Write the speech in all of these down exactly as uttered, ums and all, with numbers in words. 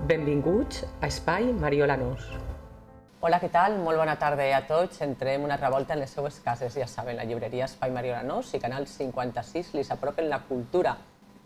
Benvinguts a Espai Mariola Nos. Hola, què tal? Molt bona tarda a tots. Entrem una altra volta en les seues cases, ja saben, la llibreria Espai Mariola Nos i Canal cinquanta-sis li apropen la cultura.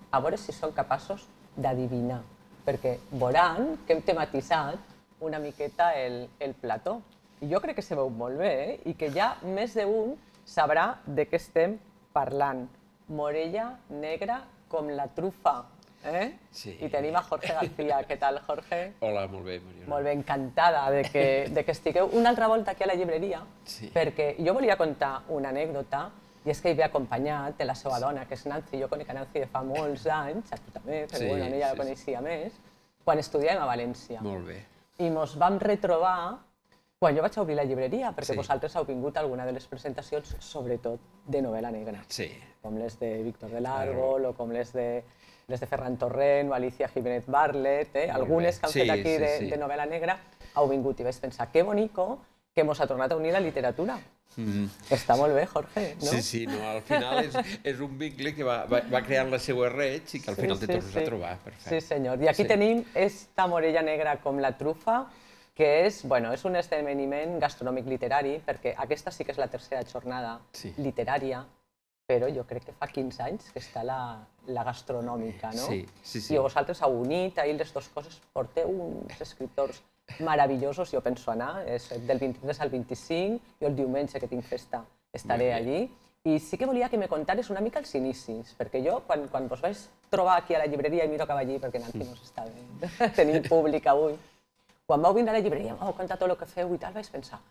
A veure si són capaços d'adivinar, perquè veuran que hem tematitzat una miqueta el, el plató. I jo crec que se veu molt bé, eh? I que ja més d'un sabrà de què estem parlant. Morella negra com la trufa. Eh? Sí. I tenim a Jorge García. Què tal, Jorge? Hola, molt bé, Mariona. Molt bé, encantada de que, de que estigueu una altra volta aquí a la llibreria, sí. Perquè jo volia contar una anècdota, i és que hi ve acompanyat de la seva dona, que és Nancy. Jo conec a Nancy de fa molts anys, a tu també, però sí, bueno, ella sí, la coneixia sí. més, quan estudiàvem a València. Molt bé. I mos vam retrobar quan jo vaig obrir la llibreria, perquè sí. vosaltres heu vingut a alguna de les presentacions, sobretot de novel·la negra. Sí. Com les de Víctor del Árbol, o com les de, les de Ferran Torrent, o Alicia Jiménez Barlet, eh? algunes que han sí, fet aquí sí, de, sí. de novel·la negra, heu vingut i vaig pensar, que bonico que mos ha tornat a unir la literatura. Mm. Està molt bé, Jorge, no? Sí, sí, no, al final és, és un vincle que va, va, va creant la seva reig i que al final sí, te tornes sí, sí. a trobar. Perfecte. Sí, senyor. I aquí sí. tenim esta morella negra com la trufa, que és, bueno, és un esdeveniment gastronòmic literari, perquè aquesta sí que és la tercera jornada sí. literària, però jo crec que fa quinze anys que està la, la gastronòmica, no? Sí, sí, sí. I vosaltres heu unit ahir les dues coses, porteu uns escriptors meravellosos, jo penso anar, és del vint-i-tres al vint-i-cinc, jo el diumenge que tinc festa estaré allí, i sí que volia que me contares una mica els inicis, perquè jo, quan, quan vos vaig trobar aquí a la llibreria, i miro cap allí, perquè Nancy no s'està bé, tenim públic avui, quan vau vindre a la llibreria, m'heu contat tot el que feu i tal, vaig pensar,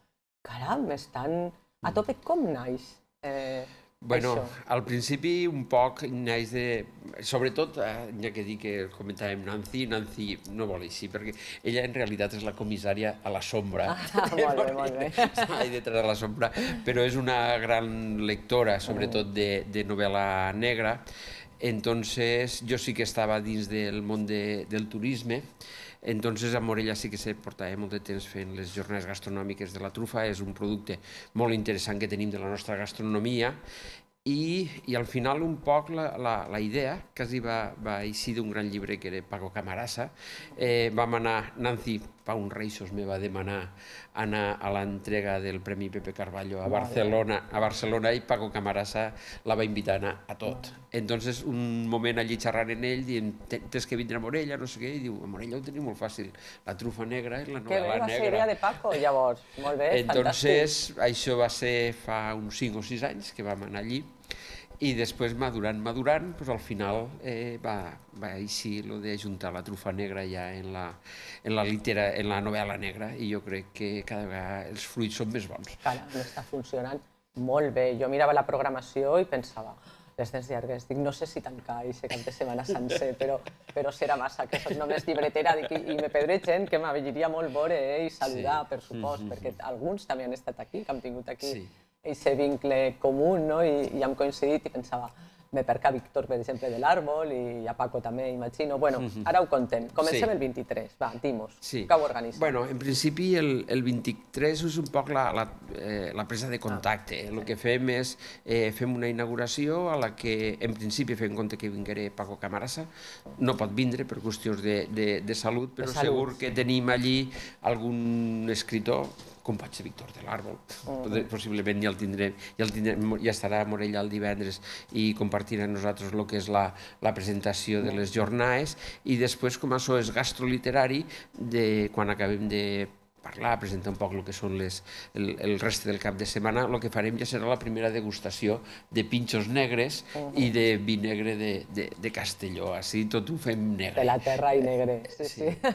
caram, estan a tope, com naix eh, bueno, això? Al principi un poc naix de... Sobretot, eh, ja que dic que comentàvem Nancy, Nancy no vol així, perquè ella en realitat és la comissària a la sombra. Ah, molt bé, molt bé. Està ahí detrás de la sombra, però és una gran lectora, sobretot de, de novel·la negra. Entonces, jo sí que estava dins del món de, del turisme. Entonces, a Morella sí que se portava molt de temps fent les jornades gastronòmiques de la trufa. És un producte molt interessant que tenim de la nostra gastronomia. I, i al final un poc la, la, la idea quasi va, va eixir d'un gran llibre que era Paco Camarasa. Eh, vam anar, Nancy fa uns reixos me va demanar anar a l'entrega del Premi Pepe Carballo a Barcelona, a Barcelona i Paco Camarasa la va invitar a anar a tot. Entonces, un moment allí xerrant en ell, dient, tens que vindre a Morella, no sé què, i diu, a Morella ho tenim molt fàcil, la trufa negra és la novel·la negra. Que bé, va ser idea de Paco, llavors, molt bé, Entonces, fantàstic. Això va ser fa uns cinc o sis anys que vam anar allí, i després, madurant, madurant, doncs al final eh, va, va eixir lo de juntar la trufa negra ja en la, en la, litera, en la novel·la negra, i jo crec que cada vegada els fruits són més bons. Caram, està funcionant molt bé. Jo mirava la programació i pensava, les dents llargues, dic, no sé si tancar aquest cap de setmana sencer, però, però serà massa, que soc només llibretera, dic, i, i me perdré gent que m'avellaria molt veure eh, i saludar, sí. per supost, mm-hmm. perquè alguns també han estat aquí, que han tingut aquí. Sí. Aquest vincle comú, no? I, i hem coincidit i pensava, me perca Víctor, per exemple, de l'Àrbol, i a Paco també, imagino. Bueno, ara ho contem. Comencem sí. el vint-i-tres, va, dimos, sí. que ho organitzem. Bueno, en principi el, el vint-i-tres és un poc la, la, eh, la presa de contacte. Ah, el sí. que fem és, eh, fem una inauguració a la que, en principi, fem compte que vingueré Paco Camarasa. No pot vindre per qüestions de, de, de salut, però de salut, segur que tenim allí algun escritor, com pot ser Víctor de l'Àrbol, uh-huh. possiblement ja el tindrem, ja, el tindrem, ja estarà a Morella el divendres i compartirà amb nosaltres el que és la, la presentació de les jornades, i després, com això és gastroliterari, de, quan acabem de parlar, presentar un poc el que són les, el, el reste del cap de setmana, el que farem ja serà la primera degustació de pinxos negres uh-huh. i de vi negre de, de, de Castelló, així tot ho fem negre. De la terra i negre, sí, sí. sí.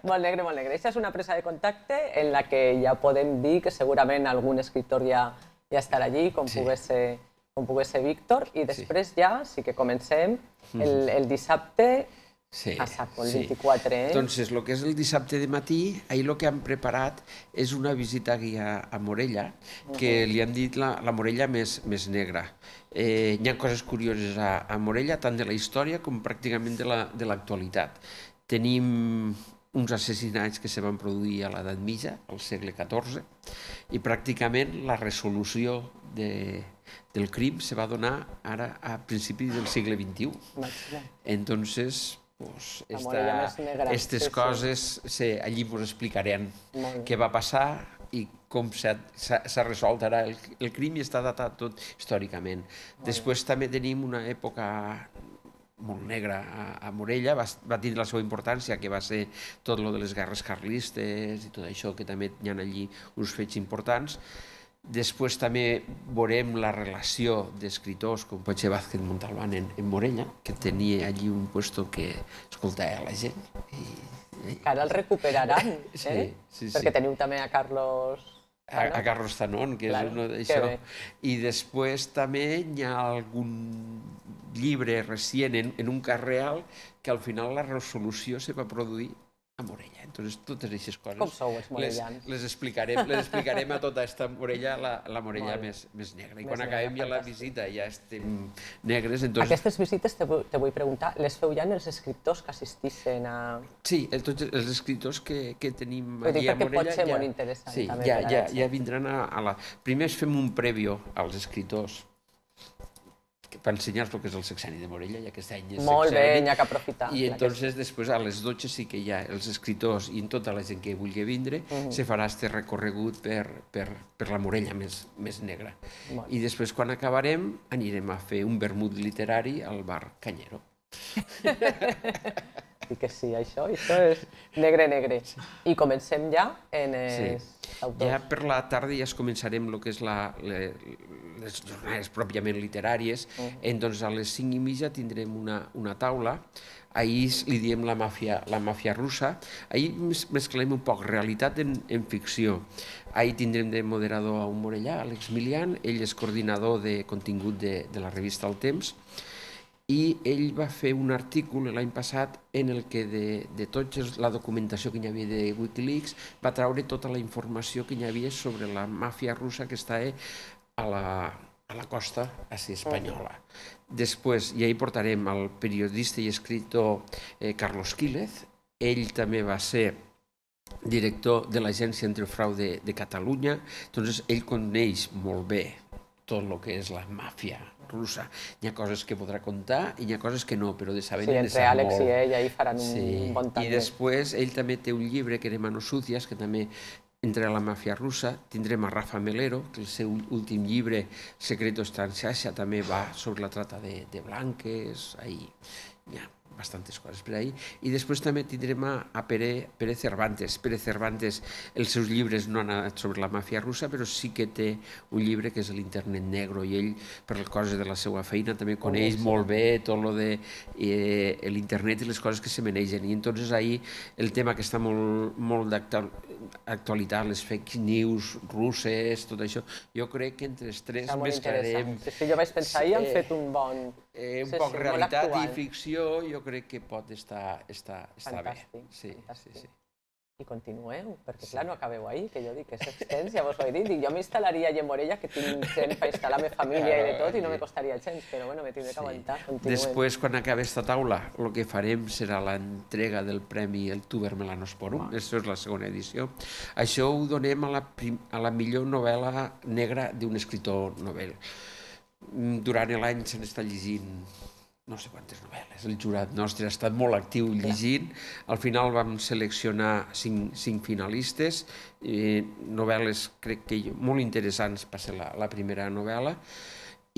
Molt negre, molt negre. Aquesta és una presa de contacte en la que ja podem dir que segurament algun escriptor ja, ja estarà allí, com sí. pogués ser, com pogués ser Víctor, i després sí. ja sí que comencem el, el dissabte. Sí, a saco, el vint-i-quatre, eh? Doncs el que és el dissabte de matí, ahir el que hem preparat és una visita guia a Morella, que li han dit la, la Morella més, més negra. Eh, hi ha coses curioses a, a Morella, tant de la història com pràcticament de l'actualitat. La, Tenim uns assassinats que se van produir a l'edat mitja, al segle catorze, i pràcticament la resolució de, del crim se va donar ara a principis del segle vint-i-u. Entonces, pues, La Morella més negra. aquestes Sí, sí. coses sí, allí ens explicarem Molt bé. què va passar i com s'ha s'ha- s'ha resolt ara el, el crim i està datat tot històricament. Després també tenim una època molt negra a, a Morella, va, va tindre la seva importància, que va ser tot lo de les guerres carlistes i tot això, que també hi ha allí uns fets importants. Després també veurem la relació d'escriptors com pot ser Vázquez Montalbán en, en Morella, que tenia allí un puesto que escoltava la gent. I, i, Que ara el recuperaran, eh? Sí, sí, sí. Perquè teniu també a Carlos... a, a Carlos Tanón, que Clar, és uno que d'això. bé. I després també hi ha algun llibre recient en, en un cas real que al final la resolució se va produir a Morella. Entonces, totes aquestes coses Com sou els les, morellans? les, explicarem, les explicarem a tota esta Morella, la, la Morella Molt bé. més, més negra. I Més quan negra, acabem ja la fantàstic. visita ja estem negres, entonces... Aquestes visites te, vull- te vull preguntar, les feu ja els escriptors que assistixen a... Sí, el, tots els escriptors que, que tenim Vull dir, allí a perquè pot Morella... ser ja, molt interessant sí, també ja, per a ja, la ja gent. vindran a, a la... Primer es fem un prèvio als escriptors que- per ensenyar-los el que és el sexeni de Morella, ja que aquest any és Molt bé, sexeni. n'hi ha que aprofitar. I clar que entonces després a les dotze sí que hi ha els escriptors i tota la gent que vulgui vindre se farà este recorregut per, per, per la Morella més, més negra. Molt I després quan acabarem anirem a fer un vermut literari al bar Canyero. sí que sí, això, això és negre, negre. I comencem ja en els autors. Ja per la tarda ja es començarem el que és la, le, les jornades pròpiament literàries. Entonces a les cinc i mitja tindrem una, una taula. Ahir li diem la màfia, la màfia russa. Ahir mes- mesclem un poc realitat en, en ficció. Ahir tindrem de moderador a un morellà, Àlex Milian. Ell és coordinador de contingut de, de la revista El Temps. I ell va fer un article l'any passat en el que de, de tota la documentació que hi havia de Wikileaks va treure tota la informació que hi havia sobre la màfia russa que està a la, a la costa així espanyola. Després, i ahí portarem el periodista i escriptor eh, Carlos Quílez. Ell també va ser director de l'Agència Antifrau de, de Catalunya. Entonces, ell coneix molt bé tot el que és la màfia russa. Hi ha coses que podrà contar i hi ha coses que no, però de saber Sí, n'hi ha de entre saber Àlex molt. i ell ahí faran un Sí. bon I taller. després ell també té un llibre que era Manos Sucias, que també entre la màfia russa. Tindrem a Rafa Melero, que el seu últim llibre, Secretos Transasia, també va sobre la trata de, de blanques. Ahí hi ha bastantes coses per ahí. I després també tindrem a, a Pere, Pere Cervantes. Pere Cervantes, els seus llibres no han anat sobre la màfia russa, però sí que té un llibre que és l'Internet Negro, i ell, per les coses de la seva feina, també coneix molt bé tot lo de eh, l'internet i les coses que se manegen. I entonces ahí el tema que està molt, molt d'actualitat, les fake news russes, tot això, jo crec que entre els tres Està molt mesclarem interessant. Sí, sí, jo vaig pensar, i han Sí. fet un bon... eh, un Sí, poc sí, molt realitat i actual. ficció, jo crec que pot estar, estar, estar bé. Fantàstic, Sí, fantàstic. sí, sí. I continueu, perquè clar, no acabeu ahir, que jo dic que és extens, ja vos ho he dit, dic, jo m'instal·laria allà a Morella, que tinc gent per instal·lar la meva família i de tot, i no me costaria gens, però bueno, me tindré que aguantar, continuem. Després, quan acabi aquesta taula, el que farem serà l'entrega del premi El Tuber Melanosporum, això és la segona edició. Això ho donem a la, prim, a la millor novel·la negra d'un escriptor novel. Durant l'any se n'està llegint no sé quantes novel·les. El jurat nostre ha estat molt actiu llegint. Al final vam seleccionar cinc, cinc finalistes, eh, novel·les crec que molt interessants per ser la, la primera novel·la,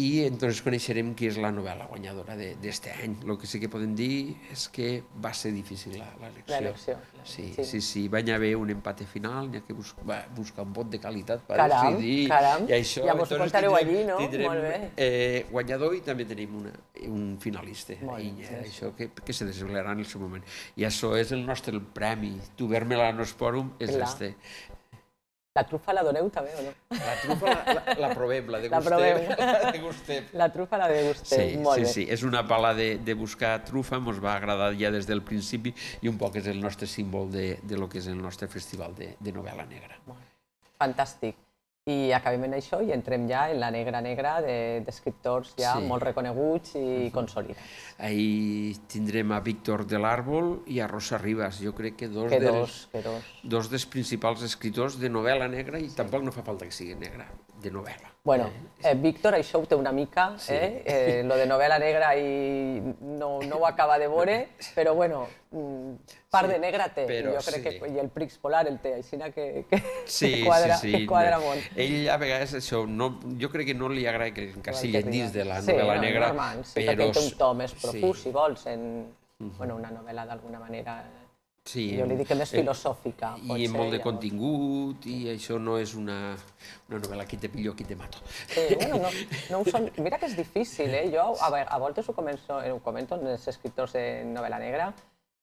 i entonces coneixerem qui és la novel·la guanyadora d'aquest any. El que sí que podem dir és que va ser difícil l'elecció. L'elecció, Sí, sí. sí, sí. Va haver un empat final, n'hi ha que bus va, buscar un vot de qualitat per Caram, decidir. caram. I això, Ja mos ho entonces contareu tindrem- allí, no? Tindrem Molt bé. eh, guanyador i també tenim una, un finalista. Molt I bé, eh, sí. això que, que se desvelarà en el seu moment. I això és el nostre el premi. Tuber Melanosporum és Clar. este. La trufa la doneu també o no? La trufa la, la, la provem, la La proveu. degustem. La degustem. La trufa la degusteu, Sí, molt sí, bé. sí, és una pala de, de buscar trufa, ens va agradar ja des del principi i un poc és el nostre símbol de, de lo que és el nostre festival de, de novel·la negra. Fantàstic. I acabem en això i entrem ja en la negra negra de- d'escriptors ja Sí. molt reconeguts i consolidats. Ahir tindrem a Víctor de l'Àrbol i a Rosa Ribas. Jo crec que dos, Que dels, dos, que dos. dos dels principals escriptors de novel·la negra, i tampoc no fa falta que sigui negra, de novel·la. Bueno, eh, Víctor això ho té una mica, Sí. eh? eh? Lo de novel·la negra i no, no ho acaba de veure, però bueno, part Sí, de negra té, però jo crec sí. que, i el Prix Polar el té, així que, que, Sí, que quadra, sí, sí. que quadra molt. Ell a vegades això, no, jo crec que no li agrada que l'encasillen dins de la Sí, novel·la no, negra, normal, sí, però... perquè ell té un to més profús, sí. si vols, en bueno, una novel·la d'alguna manera... Sí, jo li dic que més eh, filosòfica, pot i ser. molt de llavors. contingut, i això no és una, una novel·la qui te pillo, qui te mato. Sí, bueno, no, no ho són... Mira que és difícil, eh? Jo a, a voltes ho, començo, ho comento amb els escriptors de novel·la negra,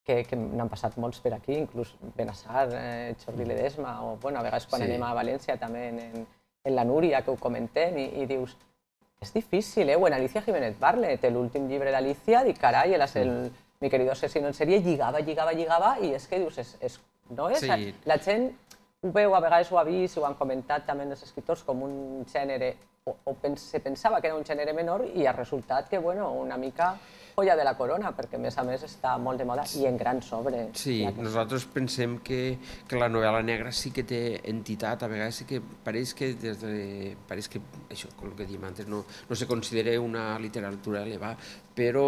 que, que n'han passat molts per aquí, inclús Benassar, eh, Jordi Ledesma, o bueno, a vegades quan Sí. anem a València també en, en la Núria, que ho comentem, i, i dius, és difícil, eh? O en Alicia Jiménez Barlet, l'últim llibre d'Alicia, dic, carai, el, el, Mi querido asesino en sèrie, lligava, lligava, lligava, i és que dius, és, és, no és? Sí. La gent ho veu, a vegades ho ha vist, ho han comentat també els escriptors, com un gènere, o, o pens, se pensava que era un gènere menor, i ha resultat que, bueno, una mica joia de la corona, perquè a més a més està molt de moda i en grans obres. Sí, nosaltres pensem que, que la novel·la negra sí que té entitat, a vegades sí que pareix que, des de, pareix que això, el que diem antes, no, no se considera una literatura elevada, però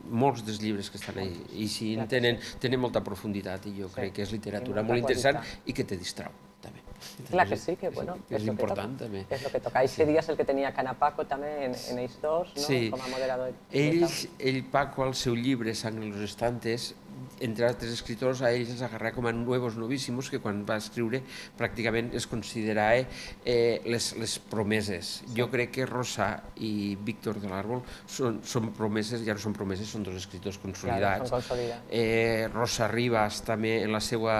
molts dels llibres que estan ahí, i sí, tenen, tenen molta profunditat, i jo crec que és literatura molt interessant i que te distrau, també. Clar que sí, que bueno, és important també. És el que toca. Eixe dia és el que tenia Canapaco també en, en ells dos, no? Sí. Com a moderador. Ells, ell, Paco, al seu llibre Sang en los estantes, entre altres escriptors, a ells els agarrà com a nuevos novíssimos, que quan va escriure pràcticament es considerava eh, les, les promeses. Sí. Jo crec que Rosa i Víctor de l'Árbol són, són promeses, ja no són promeses, són dos escriptors consolidats. Claro, són consolidats. Eh, Rosa Rivas també en la seva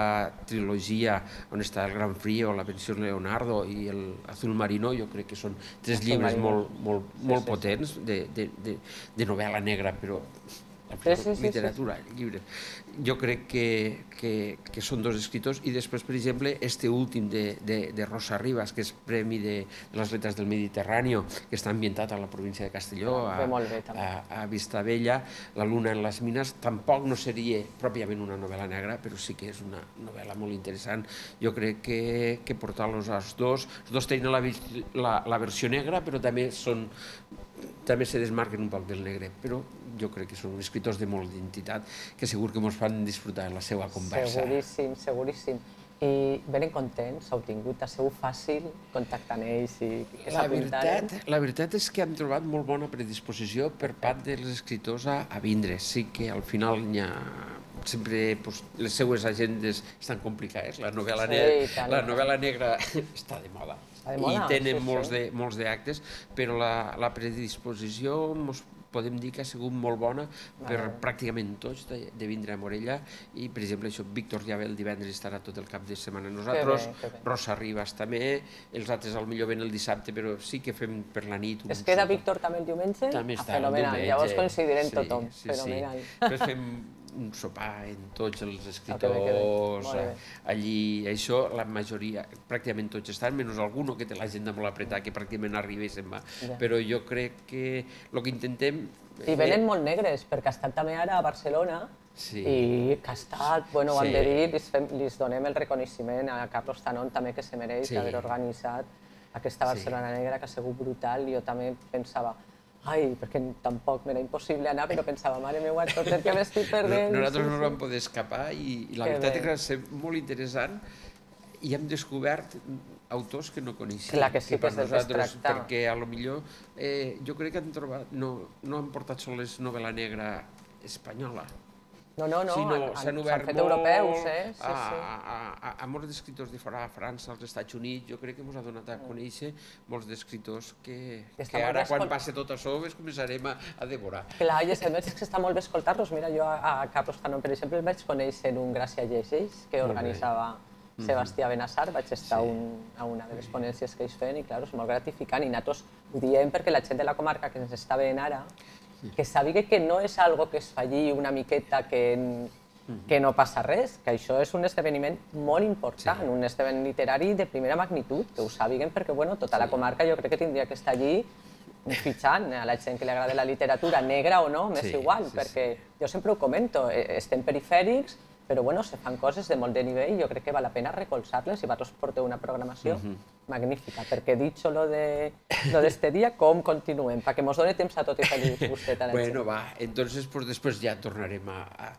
trilogia, on està El Gran Frío, La Pensión Leonardo i el Azul Marino, jo crec que són tres Azul llibres Marino. molt, molt, Sí, molt sí, potents de, de, de, de novel·la negra, però Sí, sí, sí, literatura, sí. llibre. Jo crec que, que, que són dos escriptors, i després, per exemple, este últim de, de, de Rosa Rivas, que és Premi de, de les Lettres del Mediterrani, que està ambientat a la província de Castelló, a, bé, a, a Vistabella, La luna en les mines, tampoc no seria pròpiament una novel·la negra, però sí que és una novel·la molt interessant. Jo crec que, que portar-los als dos, els dos tenen la, la, la versió negra, però també són també se desmarquen un poc del negre, però jo crec que són escriptors de molt d'entitat que segur que ens fan disfrutar la seva conversa. Seguríssim, seguríssim. I venen contents, heu tingut, ha sigut fàcil contactar amb ells i que la veritat, la veritat és que hem trobat molt bona predisposició per part dels escriptors a, a vindre. Sí que al final hi ha sempre pues, les seues agendes estan complicades. La novel·la, Sí, negra, tant, la tant. novel·la negra està de moda. Està de moda, I tenen sí, molts, sí. de, molts d'actes, però la, la predisposició mos podem dir que ha sigut molt bona per Vale. pràcticament tots de, de vindre a Morella, i per exemple això, Víctor ja ve el divendres, estarà tot el cap de setmana amb nosaltres, bé, que bé. Rosa Rivas també, els altres al millor ven el dissabte, però sí que fem per la nit. un Es queda sopar. Víctor també el diumenge? També Ah, està el fenomenal, diumenge. llavors coincidirem Sí, tothom, sí, fenomenal. Sí. Després fem un sopar en tots els que bé, escriptors, que bé. Molt bé. allí, això, la majoria, pràcticament tots estan, menys alguno que té l'agenda molt apretada, que pràcticament arriba i se'n va. Ja. Però jo crec que el que intentem... I venen molt negres, perquè ha estat també ara a Barcelona, Sí. i que ha estat, bueno, ho hem Sí. de dir, li, fem, li donem el reconeixement a Carlos Tanón també, que se mereix Sí. d'haver organitzat aquesta Barcelona Negra, que ha sigut brutal. Jo també pensava, ai, perquè tampoc m'era impossible anar, però pensava, mare meva, tot el que m'estic perdent. Nosaltres sí, no sí. vam poder escapar, i, i la Que veritat bé. és que va ser molt interessant, i hem descobert autors que no coneixíem. Clar que sí, que per és del que es nosaltres, tracta. perquè a lo millor eh, jo crec que han trobat, no, no han portat sols novel·la negra espanyola, No, no, no, sinó han, han, s'han s'han obert fet molt europeus, eh? Sí, a, sí. a, a, a molts d'escriptors de fora, a França, als Estats Units. Jo crec que ens ha donat a conèixer molts d'escriptors que, Que està que molt ara, bé quan escolt- passi tot això, es començarem a, a devorar. Clar, i a més és que està molt bé escoltar-los. Mira, jo a, a Carlos Tanón, per exemple, el vaig conèixer en un Gràcia Llegeix, que Molt bé. organitzava Sebastià Benassar. Vaig estar Sí. un, a una de les ponències que ells feien i, clar, és molt gratificant. I nosaltres ho diem perquè la gent de la comarca que ens està veient ara, que sàpiga que no és algo que es falli una miqueta, que, que no passa res, que això és un esdeveniment molt important, Sí. un esdeveniment literari de primera magnitud, que ho sàpiguen perquè, bueno, tota la comarca jo crec que tindria que estar allí fitxant a la gent que li agrada la literatura, negra o no, m'és Sí, igual, sí, perquè jo sempre ho comento, eh, estem perifèrics, però bueno, se fan coses de molt de nivell i jo crec que val la pena recolzar-les. Si vosaltres porteu una programació, magnífica, perquè dicho lo de lo d'este dia, com continuem? Perquè mos doni temps a tot i feliç gustet a la gent. Bueno, va, entonces pues después ya tornarem a, a,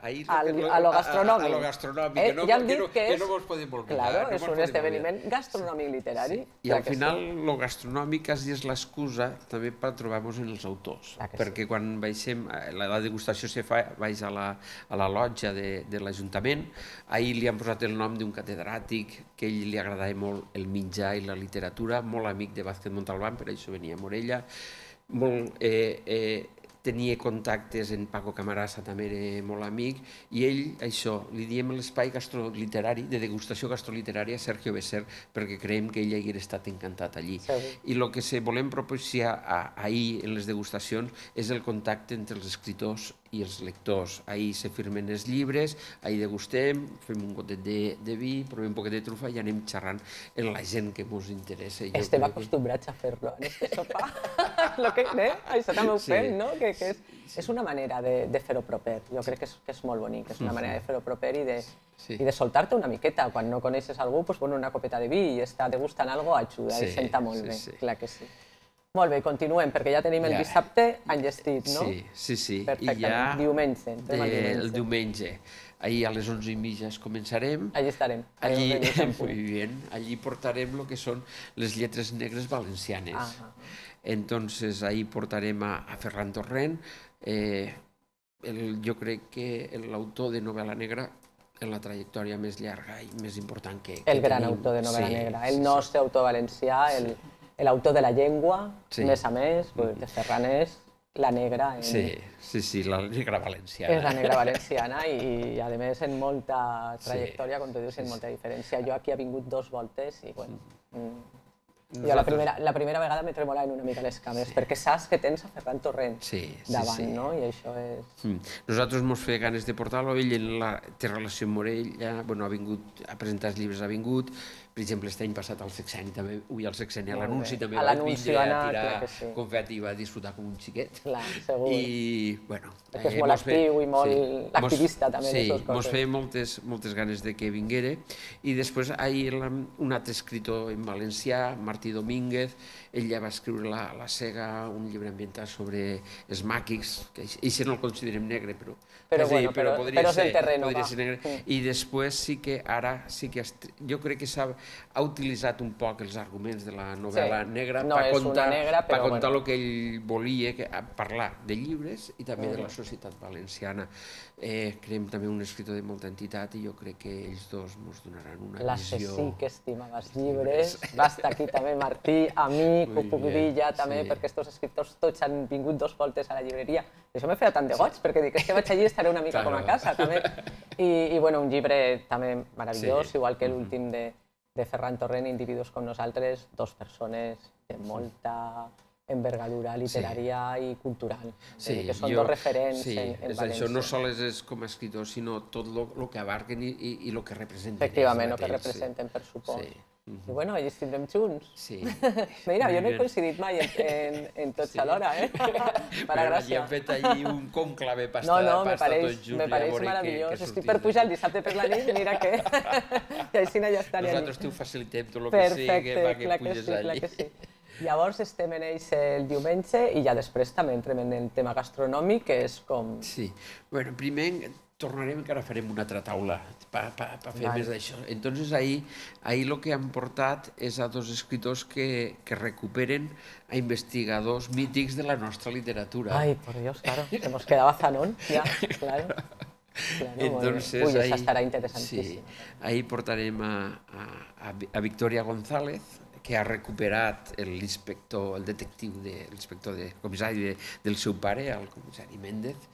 a ir Al, a lo gastronòmic. A, a lo gastronòmic, eh, que, no, ja hem que, dit no, que, que és, no mos podem oblidar. Claro, no és un esdeveniment gastronòmic literari. Sí. I al final, sí. Lo gastronòmic quasi és l'excusa també per trobar-nos en els autors, perquè sí. Quan baixem, la, la degustació se fa, baix a la, a la lotja de, de l'Ajuntament, ahir li han posat el nom d'un catedràtic que a ell li agradava molt el mitjà i la literatura, molt amic de Vázquez Montalbán, per això venia a Morella, molt, eh, eh, tenia contactes en Paco Camarasa, també era molt amic, i ell, això, li diem l'espai gastroliterari, de degustació gastroliterària a Sergio Besser, perquè creiem que ell hagués estat encantat allí. Sí. I el que se volem propiciar ahir en les degustacions és el contacte entre els escriptors i els lectors. Ahir se firmen els llibres, ahir degustem, fem un gotet de, de vi, provem un poquet de trufa i anem xerrant amb la gent que ens interessa. Estem acostumbrats a fer-lo en este sopar. Lo que, eh? Això també ho fem, no? Que, que és, és una manera de, de fer-ho proper. Jo crec que és, que és molt bonic, és una manera de fer-ho proper i de, sí. I de soltar-te una miqueta. Quan no coneixes algú, pues, pon una copeta de vi i està degustant algo, ajuda, sí, i senta molt sí, bé, sí. Clar que sí. Molt bé, continuem, perquè ja tenim el ja. Dissabte enllestit, no? Sí, sí, sí. Perfecte, I ja diumenge. De, diumenge. El diumenge. Ahir a les onze i mitja començarem. Allí estarem. Allí, muy bien, allí portarem el que són les lletres negres valencianes. Ah, ah. Entonces, ahí portarem a, a Ferran Torrent. Eh, el, jo crec que l'autor de novel·la negra en la trajectòria més llarga i més important que, que el gran tenim. Autor de novel·la sí, negra, el sí, nostre sí. Autor valencià, el, l'autor de la llengua, sí. Més a més, mm. de Ferran és la negra. En... Sí, sí, sí, la negra valenciana. És la negra valenciana i, i a més, en molta trajectòria, sí. Com tu dius, en molta diferència. Jo aquí he vingut dos voltes i, bueno... Mm. Jo la primera, la primera vegada me tremolaven una mica les cames, sí. Perquè saps que tens a Ferran Torrent sí, sí, davant, sí. No? I això és... Mm. Nosaltres mos feia ganes de portar-lo, ell en la, té relació amb Morella, bueno, ha vingut a presentar els llibres, ha vingut, per exemple, aquest any passat al Sexeni, també, ui, al Sexeni, a l'anunci també va vindre a tirar sí. Confeti i va disfrutar com un xiquet. Clar, segur. I, bueno... Perquè és eh, molt actiu i molt sí. Activista, també, sí, en aquestes coses. Mos feia moltes, moltes ganes de que vinguera. I després, ahir, un altre escritor en valencià, Martí Domínguez, ell ja va escriure La, la Sega, un llibre ambientat sobre els màquics, que ell no el considerem negre, però, però, dir, bueno, però, però podria, però ser, terreno, podria ser negre. Mm. I després sí que ara, sí que jo crec que s'ha ha utilitzat un poc els arguments de la novel·la sí. negra no per contar, negra, per contar bueno. El que ell volia, que, parlar de llibres i també mm. de la societat valenciana. Eh, creiem també un escritor de molta entitat i jo crec que ells dos ens donaran una la visió... La sí que estimava els llibres, va estar aquí també Martí, amic, ho puc dir ja també, sí. Perquè aquests escriptors tots han vingut dos voltes a la llibreria. Això me feia tant de goig, perquè dic, és que vaig allí i estaré una mica claro. Com a casa també. I, i bueno, un llibre també meravellós, sí. Igual que l'últim de, de Ferran Torrent, Individus com nosaltres, dos persones de molta... envergadura literària sí. I cultural, sí, que són jo, dos referents sí, en, en València. Això no sols és com a escritor, sinó tot el que abarquen i, i, i el que representen. Efectivament, el que representen, sí. Per suport. Sí. I bueno, allí estindrem junts. Sí. Mira, jo no he coincidit mai en, en, en tots sí. Alhora, eh? Per a gràcia. Ja hem fet allí un conclave per estar, no, no, per estar tots junts. Me pareix meravellós. Que, que estic per pujar el dissabte per la nit, mira que... I així ja estaré allí. Nosaltres t'ho facilitem tot el que sigui perquè puges allí. Clar que sí. Llavors estem en ells el diumenge i ja després també entrem en el tema gastronòmic, que és com... Sí, bueno, primer tornarem, encara farem una altra taula per fer vale. Més d'això. Entonces ahir, ahir el que han portat és a dos escriptors que, que recuperen a investigadors mítics de la nostra literatura. Ai, por Dios, claro, se nos quedaba Zanón, ya, claro. Claro, entonces, uy, ahí, esa estarà interessantíssima. Sí, ahí portarem a, a, a Victoria González, que ha recuperat l'inspector, el detectiu, de, l'inspector de comissari de, del seu pare, el comissari Méndez,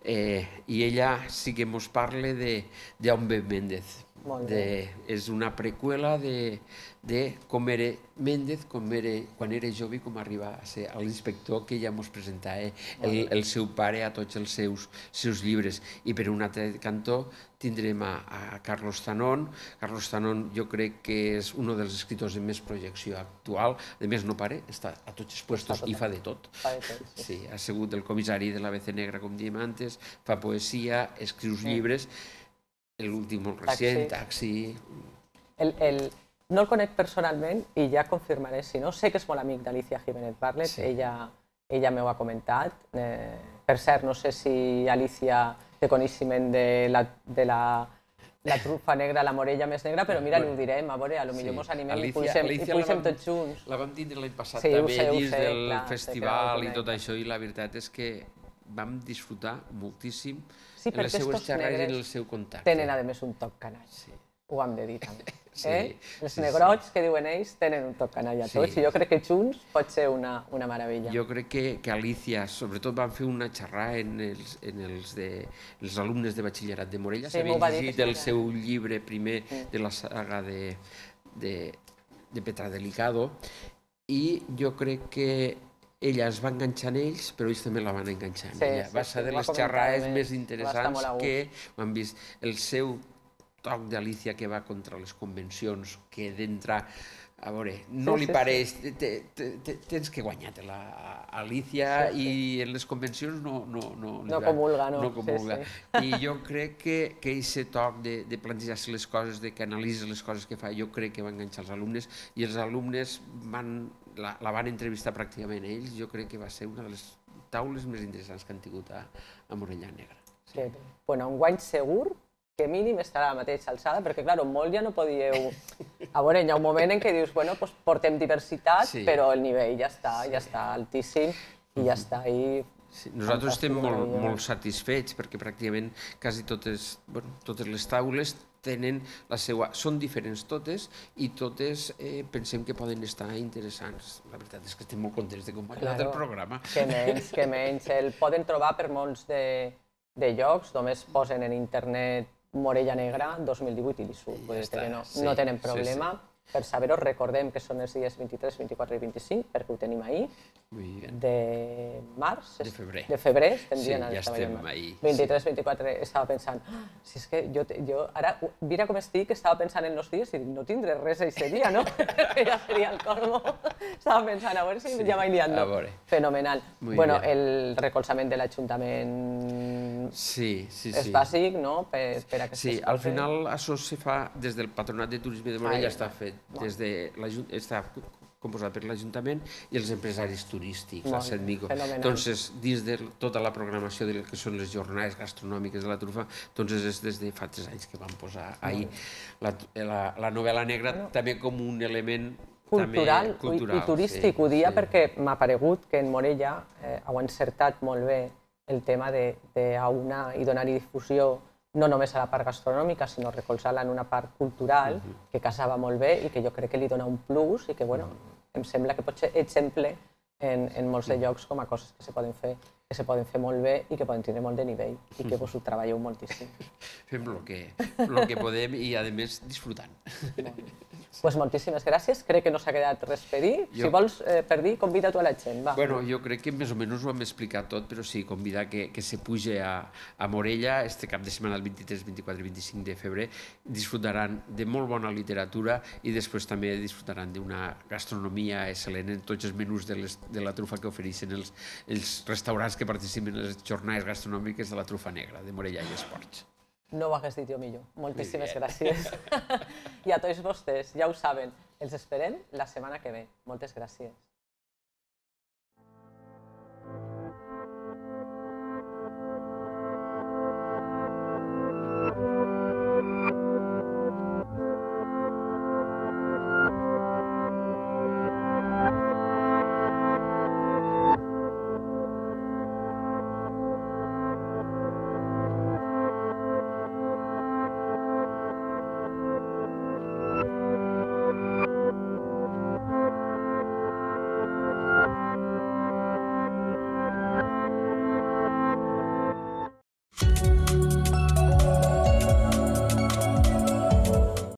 eh, i ella sí que ens parla d'on ve Méndez. De, és una preqüela de, de com era Méndez com era, quan era jove i com arriba a ser l'inspector que ja ens presentava el, el seu pare a tots els seus, seus llibres. I per un altre cantó tindrem a, a Carlos Zanón. Carlos Zanón jo crec que és un dels escriptors de més projecció actual. A més, no pare, està a tots els puestos i fa de tot. Fa de tot, sí. Sí, ha sigut el comissari de l'A B C Negra, com diem antes, fa poesia, escriu llibres. L'últim molt recent, Taxi... El, el, no el conec personalment i ja confirmaré, si no, sé que és molt amic d'Alicia Jiménez Barlet, sí. ella, ella m'ho ha comentat. Eh, per cert, no sé si Alicia té coneixement de la, de la, la trufa negra, la morella més negra, però mira, bueno, li ho direm, a veure, potser sí. Mos animem Alicia, i pugem, i pugem tots junts. La vam tindre l'any passat sí, també, sé, dins sé, del clar, festival i tot això, i la veritat és que vam disfrutar moltíssim sí, en les seues xerrades i en el seu contacte. Tenen, a més, un toc canall. Sí. Ho hem de dir també. Sí, eh? Els sí, negrots sí. que diuen ells tenen un toc canalla a tots, sí. I jo crec que junts pot ser una, una meravella. Jo crec que, que Alicia, sobretot van fer una xerrada en els, en els, de, els alumnes de batxillerat de Morella, sí, s'havien llegit el seu llibre primer sí. de la saga de, de, de Petra Delicado, i jo crec que ella es va enganxar en ells, però ells també la van enganxar en sí, ella. Va ser sí, de les xerrades més interessants que han vist. El seu toc d'Alicia que va contra les convencions, que d'entrar, a veure, no sí, li sí, pareix, sí. te, te, te, tens que guanyar-te-la, Alicia, sí, sí. I en les convencions no... No, no, no comulga, no. No comulga. Sí, sí. I jo crec que, que aquest toc de, de plantejar-se les coses, de que analitza les coses que fa, jo crec que va enganxar els alumnes, i els alumnes van, la, la van entrevistar pràcticament ells, jo crec que va ser una de les taules més interessants que han tingut a, a Morella Negra. Sí. Sí. Bueno, un guany segur, que mínim estarà a la mateixa alçada, perquè, clar, molt ja no podíeu... A veure, hi ha un moment en què dius, bueno, doncs portem diversitat, sí. Però el nivell ja està, sí. Ja està altíssim i ja està ahí... Sí. Nosaltres estem molt, molt satisfets perquè pràcticament quasi totes, bueno, totes les taules tenen la seva... Són diferents totes i totes eh, pensem que poden estar interessants. La veritat és que estem molt contents de com ha quedat el programa. Que menys, que menys. El poden trobar per molts de, de llocs, només posen en internet Morella Negra dos mil divuit i li surt, ja està, no, sí, no tenen problema. Sí, sí. Per saber-ho, recordem que són els dies vint-i-tres, vint-i-quatre i vint-i-cinc, perquè ho tenim ahir, de març, de febrer, de febrer estem sí, dient, ja estem ahir. vint-i-tres, vint-i-quatre, estava pensant, ah, si és que jo, jo ara, mira com estic, estava pensant en els dies i no tindré res aquest dia, no? Ja seria el colmo. Estava pensant, a veure si sí, ja m'he liat, no? Fenomenal. Muy bueno, bien. El recolzament de l'Ajuntament sí, sí, és sí. bàsic, no? Per, per aquestes sí, coses. Al final això se fa des del Patronat de Turisme de Morella, està fet. Des de està composat per l'Ajuntament i els empresaris turístics, el Setmico. Doncs dins de tota la programació del que són les jornades gastronòmiques de la trufa, doncs és des de fa tres anys que vam posar ahir la, la, la novel·la negra també com un element cultural, també cultural i, i turístic. Sí, ho dia sí. Perquè m'ha paregut que en Morella eh, heu encertat molt bé el tema d'aunar i donar-hi difusió no només a la part gastronòmica, sinó recolzar-la en una part cultural, uh-huh. que casava molt bé i que jo crec que li dona un plus i que, bueno, uh-huh. em sembla que pot ser exemple en, en molts de llocs com a coses que se poden fer, que se poden fer molt bé i que poden tenir molt de nivell i que vos ho treballeu moltíssim. Fem el que, lo que podem i, a més, disfrutant. Pues moltíssimes gràcies. Crec que no s'ha quedat res per dir. Jo... Si vols eh, per dir, convida tu a la gent. Va. Bueno, jo crec que més o menys ho hem explicat tot, però sí, convidar que, que se puge a, a Morella este cap de setmana, el vint-i-tres, vint-i-quatre i vint-i-cinc de febrer. Disfrutaran de molt bona literatura i després també disfrutaran d'una gastronomia excel·lent en tots els menús de, les, de la trufa que ofereixen els, els restaurants que participen en les jornades gastronòmiques de la trufa negra de Morella i Esports. No ho hagués dit jo millor. Moltíssimes gràcies. I a tots vostès, ja ho saben, els esperem la setmana que ve. Moltes gràcies.